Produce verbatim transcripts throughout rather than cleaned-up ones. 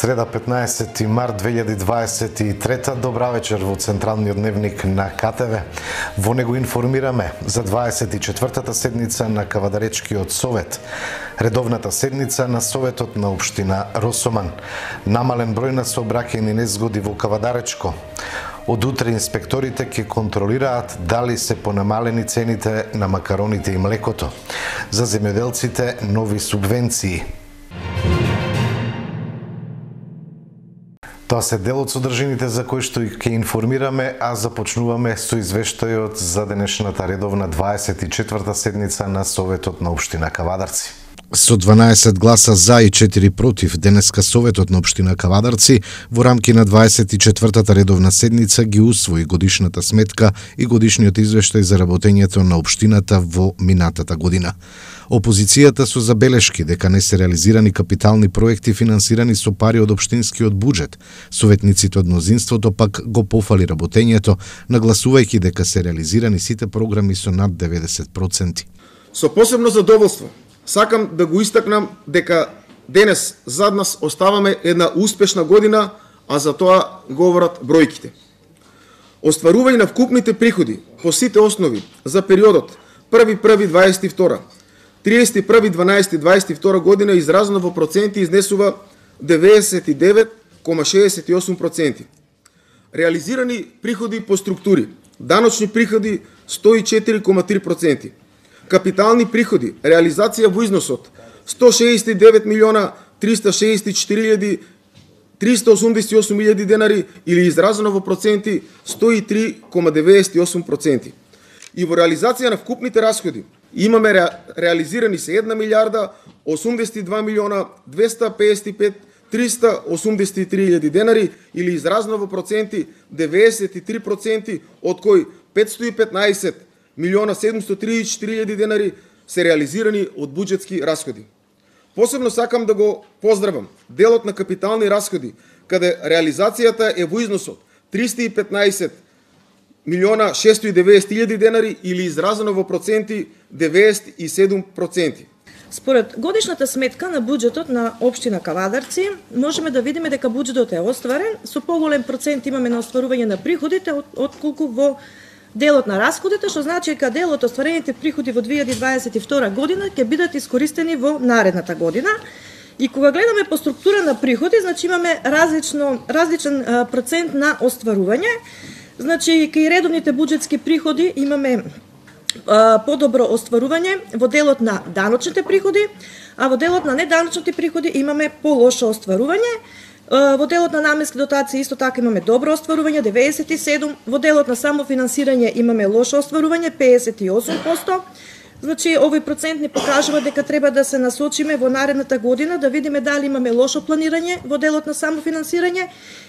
Среда петнаесети март две илјади дваесет и трета. Добра вечер во Централниот дневник на К Т В. Во него информираме за дваесет и четвртата седница на Кавадаречкиот совет, редовната седница на Советот на општина Росоман, намален број на сообраќајни незгоди во Кавадаречко. Од утре инспекторите ќе контролираат дали се понамалени цените на макароните и млекото. За земјоделците нови субвенции. Тоа се дел од содржините за кои што ќе информираме, а започнуваме со извештајот за денешната редовна дваесет и четврта седница на Советот на општина Кавадарци. Со дванаесет гласа за и четири против, денеска Советот на општина Кавадарци во рамки на дваесет и четвртата редовна седница ги усвои годишната сметка и годишниот извештај за работењето на општината во минатата година. Опозицијата со забелешки дека не се реализирани капитални проекти финансирани со пари од општинскиот буџет. Советниците од мнозинството пак го пофали работењето, нагласувајќи дека се реализирани сите програми со над деветдесет проценти. Со посебно задоволство сакам да го истакнам дека денес зад нас оставаме една успешна година, а за тоа говорат бројките. Остварување на вкупните приходи по сите основи за периодот први први дваесет и втора, триесет и први дванаесети дваесет и втора година изразено во проценти изнесува деветдесет и девет кома шеесет и осум проценти. Реализирани приходи по структури: даночни приходи сто и четири кома три проценти, капитални приходи, реализација во износот сто шеесет и девет милиона триста шеесет и четири илјади триста осумдесет и осум илјади денари или изразено во проценти сто и три кома деветдесет и осум проценти. И во реализација на вкупните расходи имаме ре, реализирани се една милијарда осумдесет и два милиона двеста песет и пет триста осумдесет и три илјади денари или изразено во проценти деветдесет и три проценти, од кои петстотини и петнаесет милиона седумстотини триесет и четири илјади денари се реализирани од буџетски расходи. Посебно сакам да го поздравам делот на капитални расходи, каде реализацијата е во износот триста и петнаесет милиона шестстотини и деветдесет илјади денари или изразено во проценти деветдесет и седум проценти. Според годишната сметка на буџетот на општина Кавадарци, можеме да видиме дека буџетот е остварен, со поголем процент имаме на остварување на приходите отколку во делот на расходите, што значи дека дел од остварените приходи во две илјади дваесет и втора година ќе бидат искористени во наредната година. И кога гледаме по структура на приходи, значи имаме различно различен процент на остварување. Значи, кај редовните буџетски приходи имаме а, подобро остварување во делот на даночните приходи, а во делот на неданочните приходи имаме полошо остварување. А, во делот на наменски дотации исто така имаме добро остварување деветдесет и седум, во делот на самофинансирање имаме лошо остварување педесет и осум проценти. Значи, овој процент ни покажува дека треба да се насочиме во наредната година, да видиме дали имаме лошо планирање во делот на самофинансирање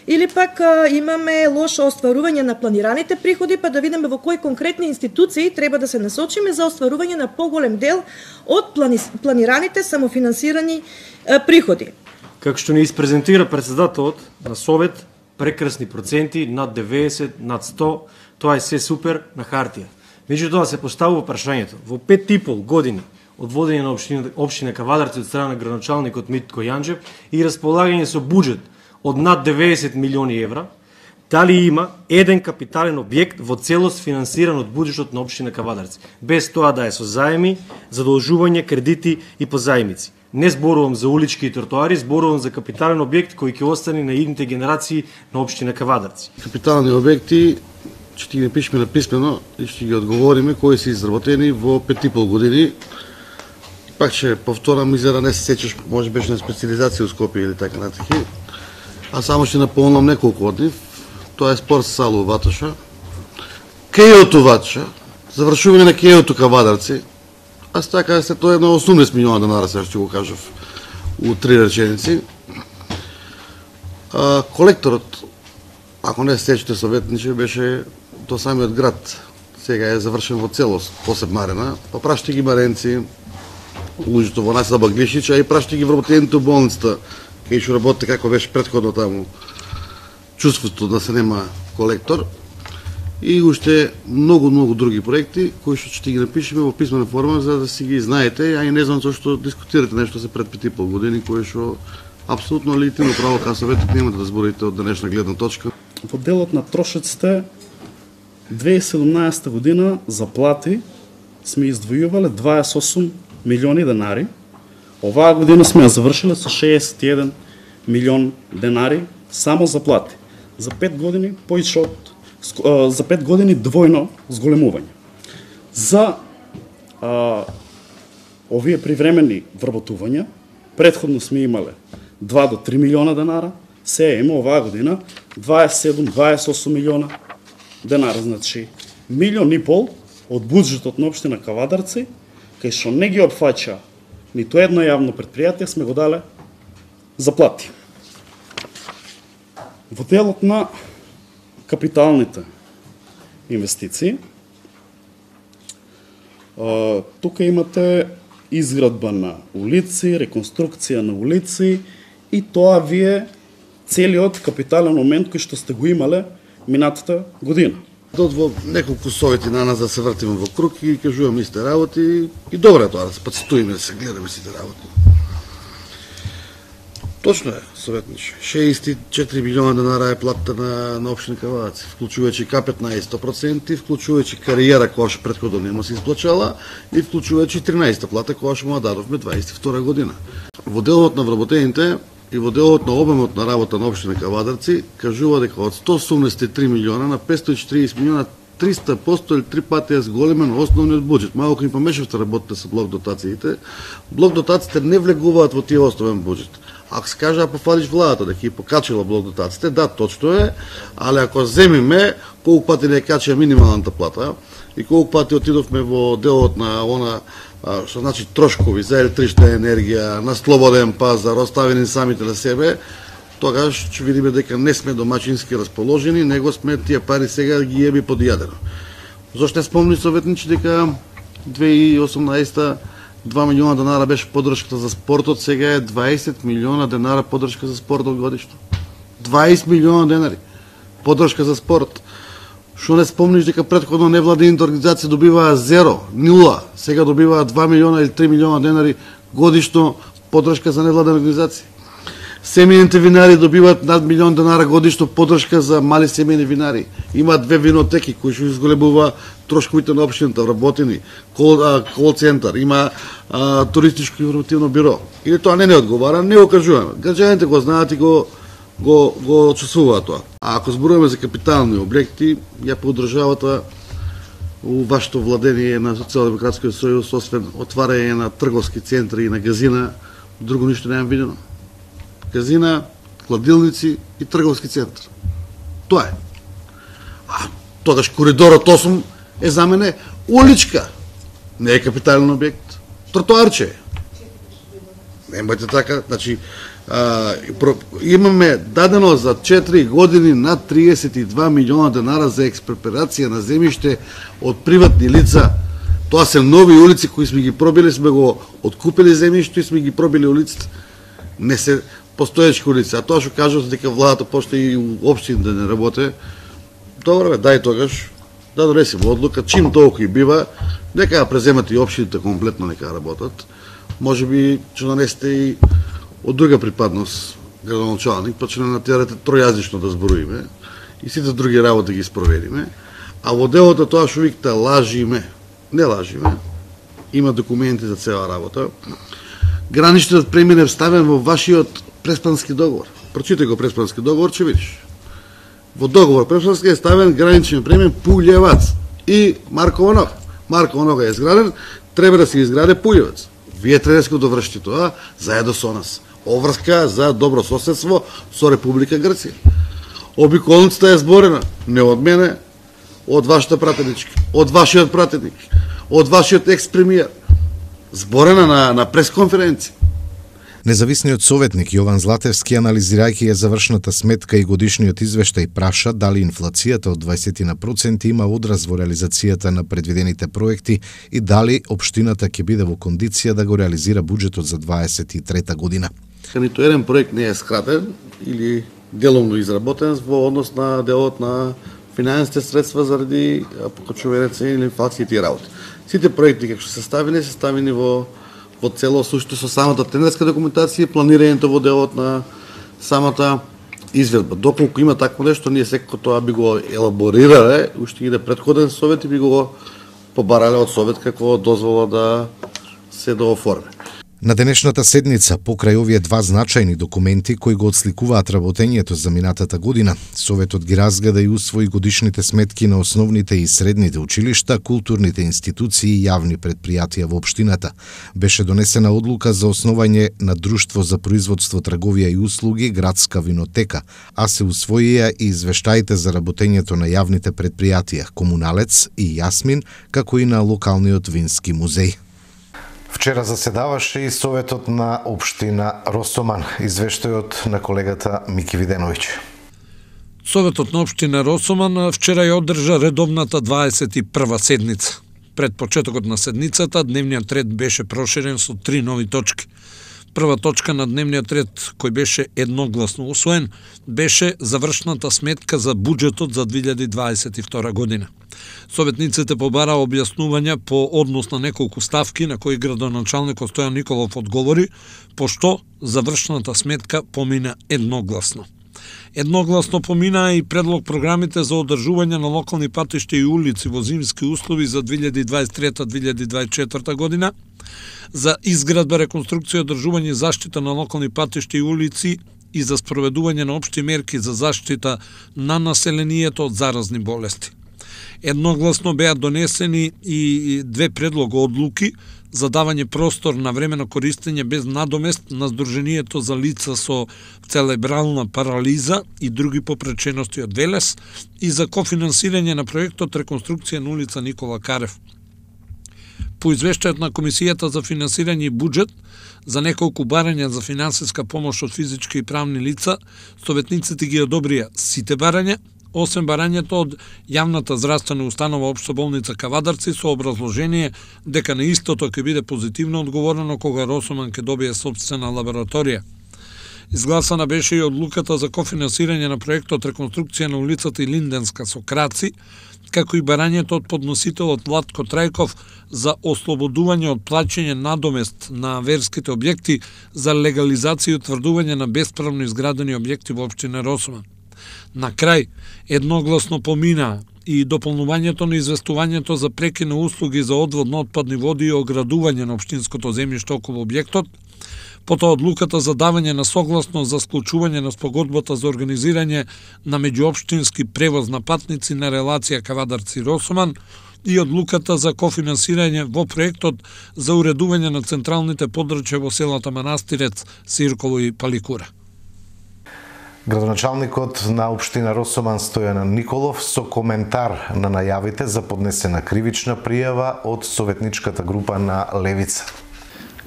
или пак а, имаме лошо остварување на планираните приходи, па да видиме во кои конкретни институции треба да се насочиме за остварување на поголем дел од плани... планираните самофинансирани а, приходи. Како што ни испрезентира председателот на Совет, прекрасни проценти, над деветдесет, над сто, тоа е се супер на хартија. Меѓутоа се поставува прашањето, во пет и пол години од водење на општина, општина Кавадарци од страна на градоначалникот Митко Јанџев и располагање со буџет од над деветдесет милиони евра, дали има еден капитален објект во целост финансиран од буџетот на општина Кавадарци, без тоа да е со заеми, задолжување, кредити и позајмици. Не зборувам за улички и тротоари, зборувам за капитален објект кој ќе остане на идните генерации на општина Кавадарци. Капитални објекти ќе ги напишеме написмено и ќе ги одговориме кои се изработени во пет и пол години. Пак ќе повторам, изгледа не се сеќаш, може беше на специализација у Скопје или така натаки. А само ќе наполнам неколку од нив. Тоа е спорт сала у Ватоша, кејото Ватоша, завршување на кејото Кавадарци. Аз така се тоа е на осумдесет милиона денара, сега ќе го кажав у три реченици. А, колекторот, ако не се сеќате советниче, беше до самиот град. Сега е завршен во целост, посебна арена. Па прашти ги маренци, луѓето во населба Баглишич, а и прашти ги вработените у болницата, кај што работите како беше претходно таму. Чувството да се нема колектор. И уште многу, многу други проекти, кои што ќе ги напишеме во писмена форма, за да си ги знаете, а и не знам зашто дискутирате нешто за пред пет и пол години, кои што Апсолутно легитимно право кај советник, немате да зборите од денешна гледна точка. Во делот на трошоците две илјади и седумнаесета година за плати сме издвојувале дваесет и осум милиони денари. Оваа година сме ја завршиле со шеесет и еден милион денари само за плати. За пет години поише од за пет години двојно зголемување. За а, овие привремени вработувања претходно сме имале два до три милиона денара, се има оваа година дваесет и седум до дваесет и осум милиона денара, значи милион и пол од буџетот на општина Кавадарци, кај што не ги опфаќа ниту едно јавно предпријатие, сме го дале за плати. Во делот на капиталните инвестиции, тука имате изградба на улици, реконструкција на улици и тоа вие целиот капитален момент кој што сте го имале минатата година. Дод во неколку совети на нас да се вртиме во круг и кажуваме исти работи и добро е тоа да се подсетуваме да се гледаме сите работи. Точно е, советниче. шеесет и четири милиона денара е платата на, на општина Кавадарци, вклучувајќи К петнаесет сто проценти, вклучувајќи кариера која што претходно нема се исплачала и вклучувајќи тринаесетта плата која што му дадовме дваесет и втора година. Во делот на вработените и во делот на обемот на работа на општина Кавадарци кажува дека од сто осумдесет и три милиона на петстотини и четириесет милиона триста поsto или три пати е зголемен основниот буџет. Малку им помешавте работите со блок дотациите. Блок дотациите не влегуваат во тие основен буџет. Ако се каже, ако пофалиш владата дека ги покачила блок дотациите, да, точно е, али ако земиме колку пати не качија минималната плата и колку пати отидовме во делот на она, што значи трошкови за електрична енергија, на слободен пазар, оставени самите на себе, тогаш ќе видиме дека не сме домачински расположени, него сме тие пари сега ги еби под јадено. Зошто не спомни советничи дека две илјади и осумнаесета два милиона денара беше поддршката за спортот, сега е дваесет милиона денара поддршка за спортот годишно. дваесет милиона денари поддршка за спорт. Што не спомниш дека претходно невладините организации добиваа зеро, нула, сега добиваа два милиона или три милиона денари годишно поддршка за невладени организации. Семејните винари добиваат над милион денара годишно поддршка за мали семејни винари. Има две винотеки кои што изголемува трошковите на општината, вработени, кол, кол центар, има а, туристичко информативно биро. Или тоа не не одговара, не го кажуваме. Граѓаните го знаат и го го го чувствуваат тоа. А ако зборуваме за капитални објекти, ја по државата у вашето владение на Социјалдемократскиот сојуз, освен отварање на трговски центри и на газина, друго ништо немам видено. Казина, кладилници и трговски центар. Тоа е. А тогаш коридорот осум е за мене уличка. Не е капитален објект. Тротоарче. Немајте така, значи а, про, имаме дадено за четири години над триесет и два милиона денара за експроприација на земјиште од приватни лица. Тоа се нови улици кои сме ги пробили, сме го откупили земјиште и сме ги пробили улиците. Не се постоечки улици, а тоа што кажат дека владата почне и општини да не работи, добро бе, дај тогаш да донесеме одлука, чим толку и бива, нека ја преземат и општините комплетно, нека работат. Може би ќе донесете и од друга припадност градоначалник, па ќе не натерате тројазично да зборуиме и сите други работи ги спроведиме. А во делото тоа што викате лажиме, не лажиме, има документи за цела работа. Граничниот премин е вставен во вашиот преспански договор. Прочитај го преспански договор, ќе видиш. Во договор преспански е ставен граничен премин Пулјевац и Маркова нога. Маркова нога е изграден, треба да се изграде Пулјевац. Вие треба да довршите тоа заедно со нас. Обврска за добро соседство со Република Грција. Обиколницата е зборена не од мене, од вашата пратеничка, од вашиот пратеник, од вашиот екс-премиер. Зборена на, на пресконференција. Независниот советник Јован Златевски, анализирајќи ја завршната сметка и годишниот извештај, праша дали инфлацијата од дваесет проценти има одраз во реализацијата на предвидените проекти и дали општината ќе биде во кондиција да го реализира буџетот за дваесет и трета година. Ниту еден проект не е скратен или деломно изработен во однос на делот на финансите средства заради покачување цени или инфлацијата и работи. Сите проекти како што се ставени, се ставени во во целост уште со самата тендерска документација и планирањето во делот на самата изведба. Доколку има такво нешто, ние секако тоа би го елаборирале, уште иде претходен совет и би го побарале од совет какво дозвола да се дооформи. На денешната седница, покрај овие два значајни документи кои го отсликуваат работењето за минатата година, Советот ги разгледа и усвои годишните сметки на основните и средните училишта, културните институции и јавни предпријатија во општината. Беше донесена одлука за основање на Друштво за производство, трговија и услуги, Градска винотека, а се усвоија и извештаите за работењето на јавните предпријатија, Комуналец и Јасмин, како и на локалниот вински музеј. Вчера заседаваше и Советот на општина Росоман. Извештајот на колегата Мики Виденовиќ. Советот на општина Росоман вчера ја одржа редовната дваесет и прва седница. Пред почетокот на седницата, дневниот ред беше проширен со три нови точки. Прва точка на дневниот ред, кој беше едногласно усвоен, беше завршната сметка за буџетот за две илјади дваесет и втора година. Советниците побараа објаснувања по однос на неколку ставки на кои градоначалникот Стојан Николов одговори, пошто завршната сметка помина едногласно. Едногласно помина и предлог програмите за одржување на локални патишта и улици во зимски услови за две илјади дваесет и трета до две илјади дваесет и четврта година, за изградба, реконструкција, одржување и заштита на локални патишта и улици и за спроведување на општи мерки за заштита на населението од заразни болести. Едногласно беа донесени и две предлога одлуки за давање простор на времено користење без надомест на Сдруженијето за лица со целебрална парализа и други попречености од Велес и за кофинансирање на проектот реконструкција на улица Никола Карев. По извештајот на Комисијата за финансирање и буџет за неколку барања за финансиска помош од физички и правни лица, советниците ги одобрија сите барања, освен барањето од јавната здравствена установа Општа болница Кавадарци со образложение дека на истото ќе биде позитивно одговорено кога Росоман ќе добие сопствена лабораторија. Изгласана беше и одлуката за кофинансирање на проектот реконструкција на улицата Илинденска со краци, како и барањето од подносителот Владко Трајков за ослободување од плаќање надомест на верските објекти за легализација и утврдување на бесправно изградени објекти во општина Росоман. На крај, едногласно помина и дополнувањето на известувањето за преки на услуги за одвод на отпадни води и оградување на општинското земјиште околу објектот, потоа одлуката за давање на согласност за склучување на спогодбата за организирање на меѓуопштински превоз на патници на релација Кавадарци-Росоман и одлуката за кофинансирање во проектот за уредување на централните подрачја во селата Манастирец, Сирково и Паликура. Градоначалникот на општина Росоман Стојан Николов со коментар на најавите за поднесена кривична пријава од советничката група на Левица.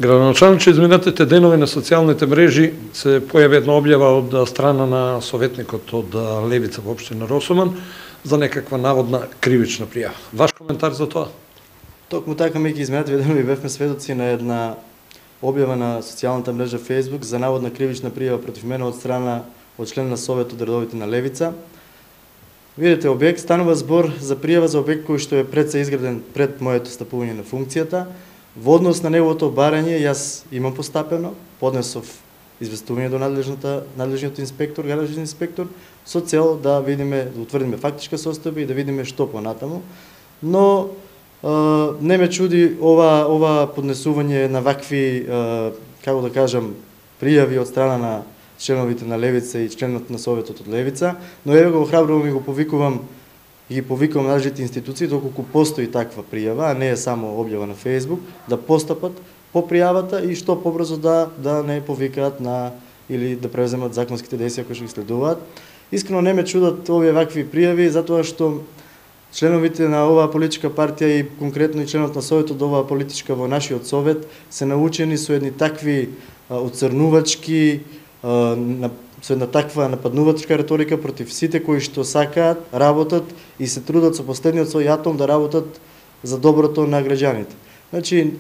Градоначалниче, изминатите денови на социјалните мрежи се појави една објава од страна на советникот од Левица во општина Росоман за некаква наводна кривична пријава. Ваш коментар за тоа? Токму така, меѓу изминатите денови бевме сведоци на една објава на социјалната мрежа Facebook за наводна кривична пријава против мене од страна од член на Советот редовите на Левица. Видете, објект станува збор за пријава за објект кој што е пред се изграден пред моето стапување на функцијата. Во однос на неговото барање, јас имам постапено, поднесов известување до надлежната, надлежниот инспектор, гаражен инспектор, со цел да видиме, да утврдиме фактичка состојба и да видиме што понатаму. Но е, не ме чуди ова, ова поднесување на вакви, е, како да кажам, пријави од страна на членовите на Левица и членот на Советот од Левица, но еве го охрабрувам и го повикувам и ги повикувам надлежните институции, доколку постои таква пријава, а не е само објава на Facebook, да постапат по пријавата и што побрзо да да не повикаат на или да превземат законските действија кои што ги следуваат. Искрено не ме чудат овие вакви пријави, затоа што членовите на оваа политичка партија и конкретно и членот на Советот од оваа политичка во нашиот совет се научени со едни такви оцрнувачки, на со една таква нападнувачка реторика против сите кои што сакаат, работат и се трудат со последниот свој атом да работат за доброто на граѓаните. Значи,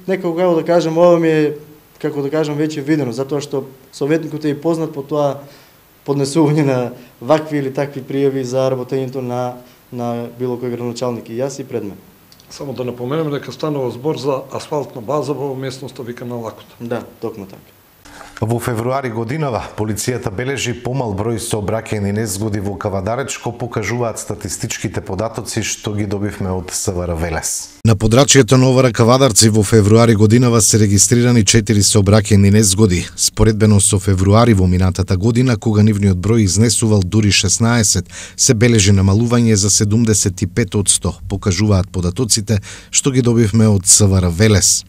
некако како да кажам, ова ми е, како да кажам, веќе видено, затоа што советникот е и познат по тоа поднесување на вакви или такви пријави за работењето на на било кој градоначалник и јас и пред мене. Само да напоменем дека станува збор за асфалтна база во местноста викана Лакота. Да, токму така. Во февруари годинава, полицијата бележи помал број сообраќајни незгоди во Кавадаречко, покажуваат статистичките податоци што ги добивме од СВР Велес. На подрачјето на Овара Кавадарци во февруари годинава се регистрирани четири сообраќајни незгоди. Споредбено со февруари во минатата година, кога нивниот број изнесувал дури шеснаесет, се бележи намалување за седумдесет и пет одсто, покажуваат податоците што ги добивме од СВР Велес.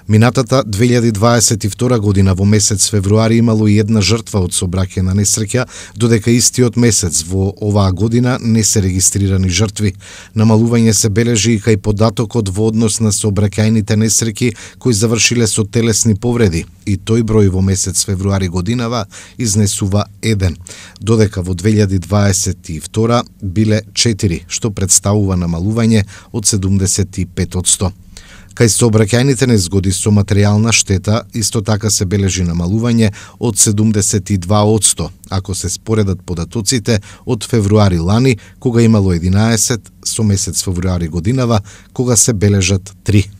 Минатата две илјади дваесет и втора година во месец февруари имало и една жртва од сообраќајна несреќа, додека истиот месец во оваа година не се регистрирани жртви. Намалување се бележи и кај податокот во однос на сообраќајните несреќи кои завршиле со телесни повреди, и тој број во месец февруари годинава изнесува еден, додека во две илјади дваесет и втора биле четири, што представува намалување од седумдесет и пет одсто. Кај сообраќајните незгоди со материјална штета исто така се бележи намалување од седумдесет и два одсто, ако се споредат податоците од февруари лани, кога имало единаесет, со месец февруари годинава, кога се бележат три.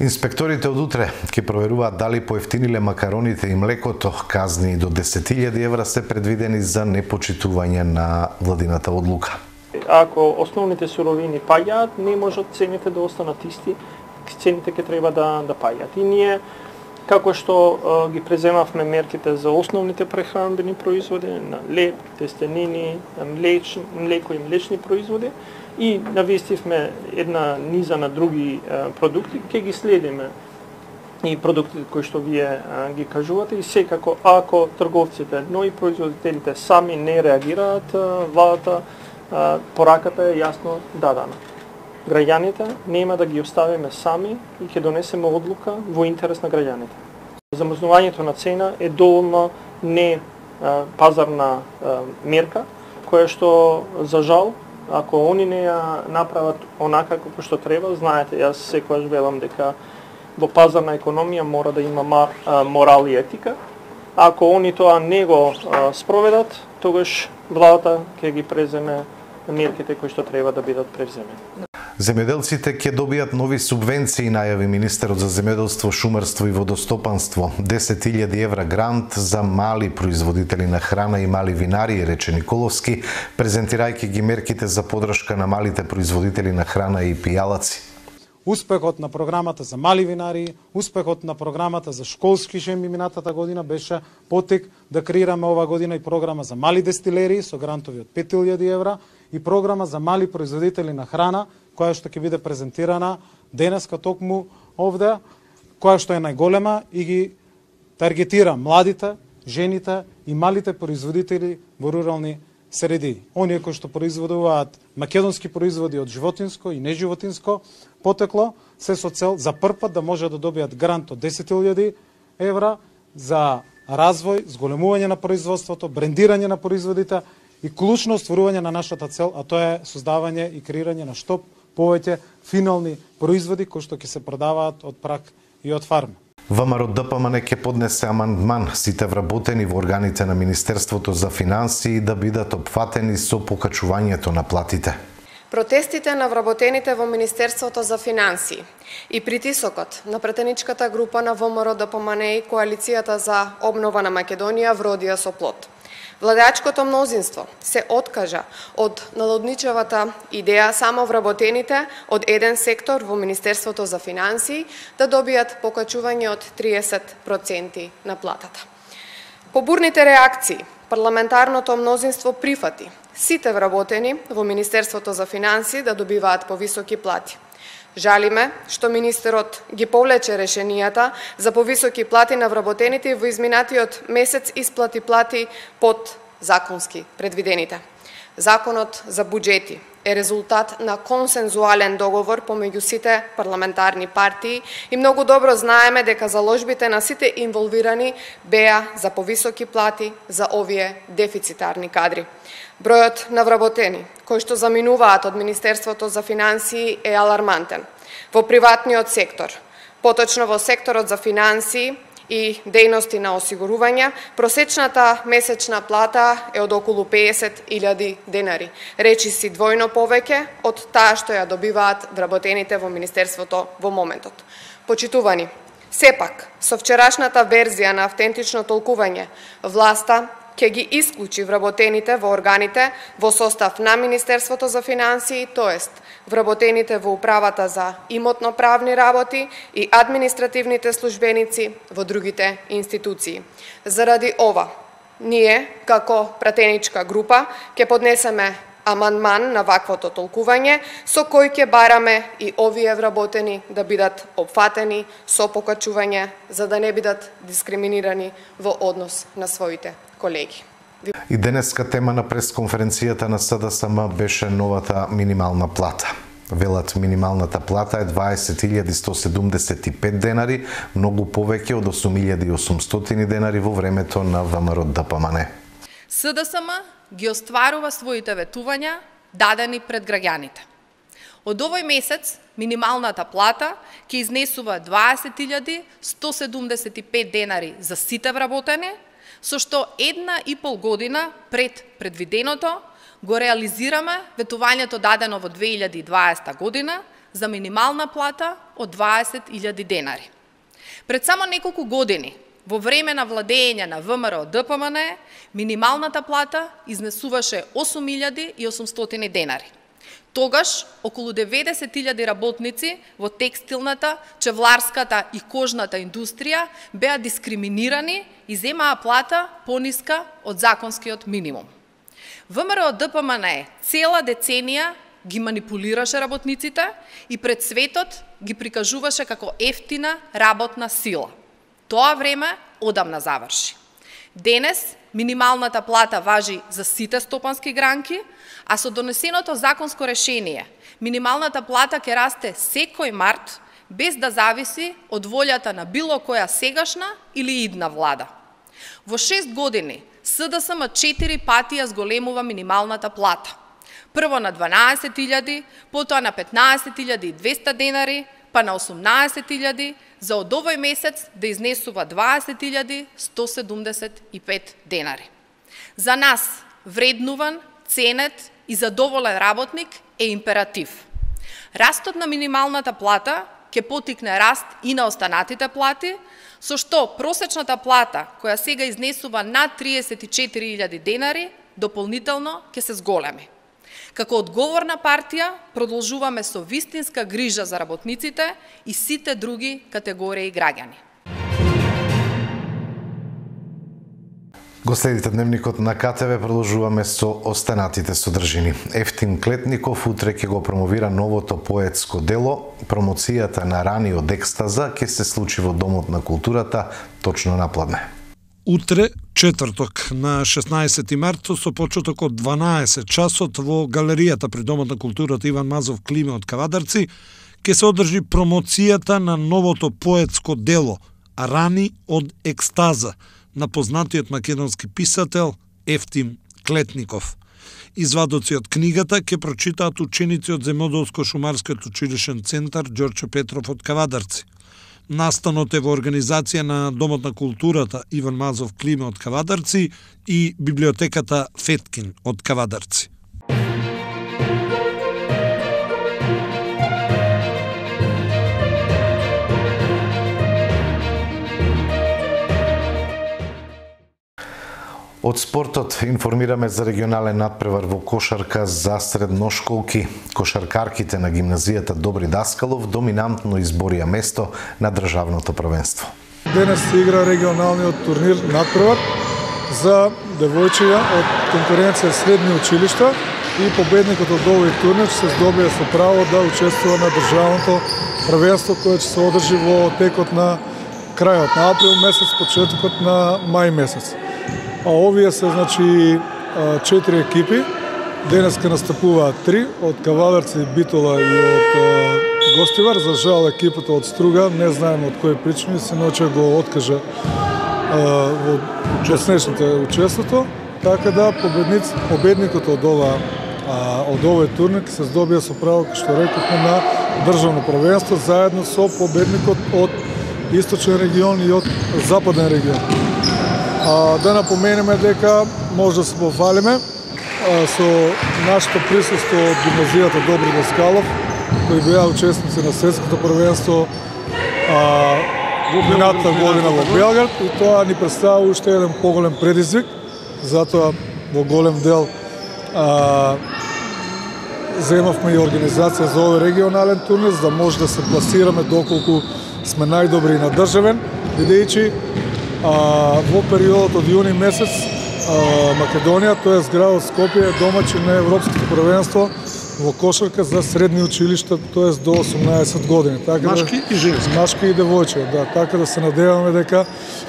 Инспекторите од утре ќе проверуваат дали поевтиниле макароните и млекото. Казни до десет илјади евра се предвидени за непочитување на владината одлука. Ако основните суровини паѓаат, не можат цените да останат исти, цените ќе треба да, да паѓаат. И ние, како што а, ги преземавме мерките за основните прехранбени производи, на леб, тестенини, млеч, млеко и млечни производи, и навестивме една низа на други а, продукти, ќе ги следиме и продуктите кои што вие а, ги кажувате, и секако ако трговците, но и производителите сами не реагираат, а, владата пораката е јасно дадена. Граѓаните нема да ги оставиме сами и ќе донесеме одлука во интерес на граѓаните. Замрзнувањето на цена е доволно не а, пазарна а, мерка, која што, за жал, ако они не ја направат онака како што треба, знаете, јас секогаш велам дека во пазарна економија мора да има мар, а, морал и етика. Ако они тоа не го а, спроведат, тогаш владата ќе ги преземе мерките кои што треба да бидат превземени. Земјоделците ќе добијат нови субвенции, најави министерот за земјоделство, шумарство и водостопанство. десет илјади евра грант за мали производители на храна и мали винари, рече Николовски, презентирајќи ги мерките за поддршка на малите производители на храна и пијалаци. Успехот на програмата за мали винари, успехот на програмата за школски шемби минатата година беше потек да креираме ова година и програма за мали дестилери со грантови од пет илјади евра и програма за мали производители на храна, која што ќе биде презентирана денеска токму овде, која што е најголема и ги таргетира младите, жените и малите производители во рурални средини. Оние кои што производуваат македонски производи од животинско и неживотинско потекло, се со цел за прв пат да може да добијат грант од десет илјади евра за развој, зголемување на производството, брендирање на производите и клучно стварување на нашата цел, а тоа е создавање и креирање на што повеќе финални производи кои што ќе се продаваат од прак и од фарма. ВМРО Д П М Н ќе поднесе амандман сите вработени во органите на Министерството за финансии да бидат опфатени со покачувањето на платите. Протестите на вработените во Министерството за финансии и притисокот на претеничката група на ВМРО Д П М Н и Коалицијата за обнова на Македонија вродија со плод. Владачкото мнозинство се откажа од налудничевата идеја само вработените од еден сектор во Министерството за финансии да добијат покачување од триесет проценти на платата. По бурните реакции, парламентарното мнозинство прифати сите вработени во Министерството за финансии да добиваат повисоки плати. Жалиме што министерот ги повлече решенијата за повисоки плати на вработените во изминатиот месец исплати плати под законски предвидените. Законот за буџети е резултат на консензуален договор помеѓу сите парламентарни партии и многу добро знаеме дека заложбите на сите инволвирани беа за повисоки плати за овие дефицитарни кадри. Бројот на вработени кои што заминуваат од Министерството за финансии е алармантен. Во приватниот сектор, поточно во секторот за финансии, и дејности на осигурување, просечната месечна плата е од околу песет илјади денари, речиси двојно повеќе од таа што ја добиваат вработените во Министерството во моментот. Почитувани, сепак, со вчерашната верзија на автентично толкување, власта ќе ги исклучи вработените во органите во состав на Министерството за финансии, тоест вработените во управата за имотно-правни работи и административните службеници во другите институции. Заради ова, ние, како пратеничка група, ќе поднесеме амандман на ваквото толкување, со кој ќе бараме и овие вработени да бидат опфатени со покачување, за да не бидат дискриминирани во однос на своите колеги. И денеска тема на пресконференцијата на СДСМ беше новата минимална плата. Велат минималната плата е дваесет илјади сто седумдесет и пет денари, многу повеќе од осум илјади и осумстотини денари во времето на ВМРО Д П М Н. СДСМ ги остварува своите ветувања дадени пред граѓаните. Од овој месец минималната плата ќе изнесува дваесет илјади сто седумдесет и пет денари за сите вработени, со што една и пол година пред предвиденото го реализираме ветувањето дадено во две илјади и дваесета година за минимална плата од дваесет илјади денари. Пред само неколку години, во време на владење на ВМРО Д П М Н, минималната плата изнесуваше осум илјади и осумстотини денари. Тогаш, околу деветдесет илјади работници во текстилната, чевларската и кожната индустрија беа дискриминирани и земаа плата пониска од законскиот минимум. ВМРО Д П М Н цела деценија ги манипулираше работниците и пред светот ги прикажуваше како ефтина работна сила. Тоа време одамна заврши. Денес минималната плата важи за сите стопански гранки, а со донесеното законско решение минималната плата ќе расте секој март без да зависи од волјата на било која сегашна или идна влада. Во шест години СДСМ четири пати ја зголемува минималната плата. Прво на дванаесет илјади, потоа на петнаесет илјади и двесте денари, па на осумнаесет илјади, за од овој месец да изнесува дваесет илјади сто седумдесет и пет денари. За нас вреднуван, ценет и задоволен работник е императив. Растот на минималната плата ќе потикне раст и на останатите плати, со што просечната плата, која сега изнесува над триесет и четири илјади денари, дополнително ќе се зголеми. Како одговорна партија, продолжуваме со вистинска грижа за работниците и сите други категории граѓани. Го следите дневникот на К Т В, продолжуваме со останатите содржини. Ефтим Клетников утре ќе го промовира новото поетско дело. Промоцијата на раниот екстаза ќе се случи во Домот на културата точно напладне. Утре, четврток, на шеснаесети март, со почеток од дванаесет часот во галеријата при Домот на културата Иван Мазов Климе од Кавадарци ќе се одржи промоцијата на новото поетско дело Рани од екстаза на познатиот македонски писател Ефтим Клетников. Извадоци од книгата ќе прочитаат ученици од Земјоделско-шумарскиот училишен центар Ѓорче Петров од Кавадарци. Настанот е во организација на Домот на културата Иван Мазов Климе од Кавадарци и библиотеката Феткин од Кавадарци. Од спортот информираме за регионален надпревар во кошарка за средношколки. Кошаркарките на гимназијата Добри Даскалов доминантно изборија место на државното првенство. Денес се игра регионалниот турнир надпревар за девојчиња од конкуренција средни училишта и победникот од овој турнир се здобија со право да учествува на државното првенство кое ќе се одржи во текот на крајот на април месец, почетокот на мај месец. А овие се, значи, четири екипи. Денеска настапуваат три, од Кавадарци, Битола и од Гостивар. За жал, екипата од Струга, не знаеме од кои причини, се ноче го откажа во поснешните учеството. Така да, победникот од ова од овој турнир се здобија со право, што рекохме, на државно првенство, заедно со победникот од источен регион и од западен регион. А, да напоменеме дека може да се пофалиме со нашето присуство од гимназијата Добри Даскалов, кои беа учесници на светското првенство во минатата година во Белград, и тоа ни представува уште еден поголем предизвик, затоа во голем дел а, земавме и организација за овој регионален турнир, за да може да се пласираме доколку сме најдобри и на државен, бидејќи во периодот од јуни месец Македонија, тоа е градот Скопје, е домаќин на Европското првенство во кошарка за средни училишта, тоа е до осумнаесет години. Така машки да, и женски. Машки и девојче, да, така да се надеваме дека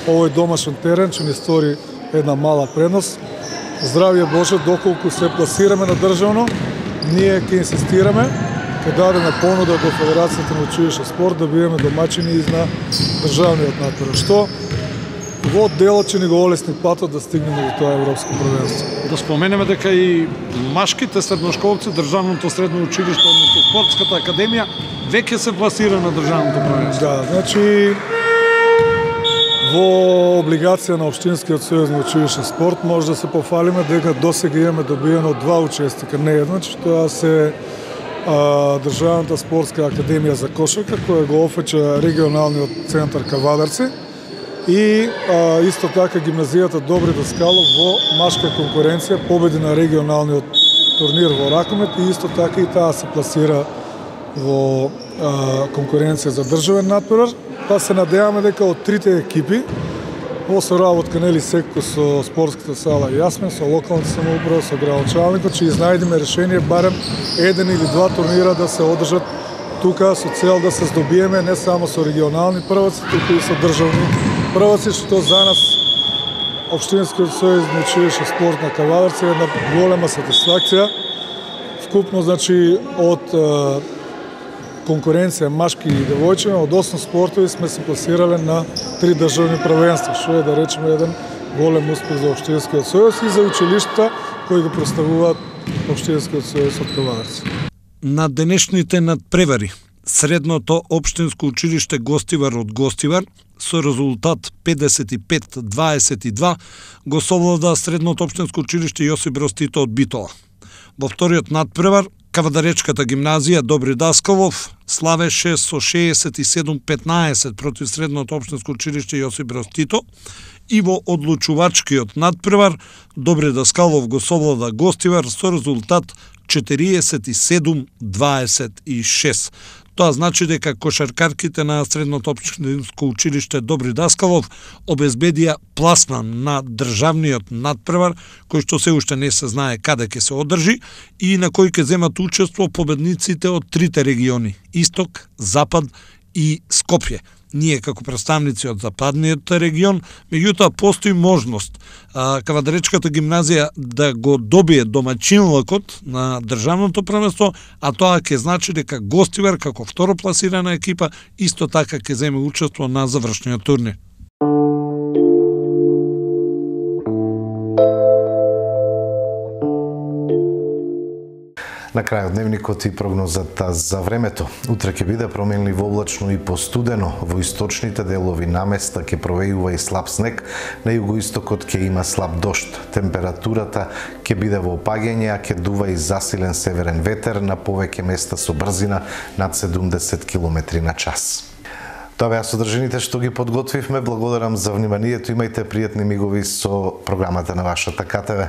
овој домашен терен ќе ни стори една мала предност. Здравје Боже, доколку се пласираме на државно, ние ќе инсистираме, ќе дадеме понуда до Федерацијата на училиште спорт да бидеме домаќини и на државниот натпревар, што во делот ќе ни го олесни патот да стигнеме до тоа европско првенство. Да споменеме дека и машките средношколци, државното средно училиште, односно спортската академија, веќе се пласира на државното првенство. Да, значи во облигација на Општинскиот сојуз на училиште спорт може да се пофалиме дека досега имаме добиено два учесника, не едно, тоа се а, Државната спортска академија за кошарка, која го офеча регионалниот центар Кавадарци, и а, исто така гимназијата Добри Даскалов во машка конкуренција победи на регионалниот турнир во ракомет, и исто така и таа се пласира во а, конкуренција за државен натпревар. Па се надеваме дека од трите екипи во соработка нели секој со спортската сала Јасмен, со локалната самоуправа, со градоначалникот, ќе изнајдеме решение барем еден или два турнира да се одржат тука со цел да се здобиеме не само со регионални прваци, туку и со државни прваци, што за нас Општинскиот сојуз на училиште спорт на Кавадарци е една голема сатисфакција. Вкупно, значи, од е, конкуренција машки и девојче, од осум спортови сме се пласирале на три државни првенства, што е, да речеме, еден голем успех за Општинскиот сојуз и за училиштата кои го представуваат Општинскиот сојуз од Кавадарци. На денешните надпревари Средното општинско училиште Гостивар од Гостивар со резултат педесет и пет дваесет и два го совлада Средното општинско училиште Јосип Броз Тито од Битола. Во вториот надпревар Кавадаречката гимназија Добри Даскалов славеше со шеесет и седум петнаесет против Средното општинско училиште Јосип Броз Тито, и во одлучувачкиот надпревар Добри Даскалов го совлада Гостивар со резултат четириесет и седум дваесет и шест. Тоа значи дека кошаркарките на Средното општинско училиште Добри Даскалов обезбедија пласман на државниот надпревар, кој што се уште не се знае каде ќе се одржи и на кој ќе земат учество победниците од трите региони – Исток, Запад и Скопје. Ние како представници од западниот регион, меѓутоа постои можност а, Кавадаречката гимназија да го добие домаќинлакот на државното првенство, а тоа ќе значи дека Гостивар како второпласирана екипа исто така ќе земе учество на завршниот турнир. На крајот дневникот и прогнозата за времето. Утре ќе биде променливо облачно и постудено. Во источните делови наместа ќе провејува и слаб снег, на југоистокот ќе има слаб дожд. Температурата ќе биде во опаѓање, а ќе дува и засилен северен ветер на повеќе места со брзина над седумдесет километри на час. Тоа беа содржините што ги подготвивме. Благодарам за вниманието. Имајте пријатни мигови со програмата на вашата ка те ве.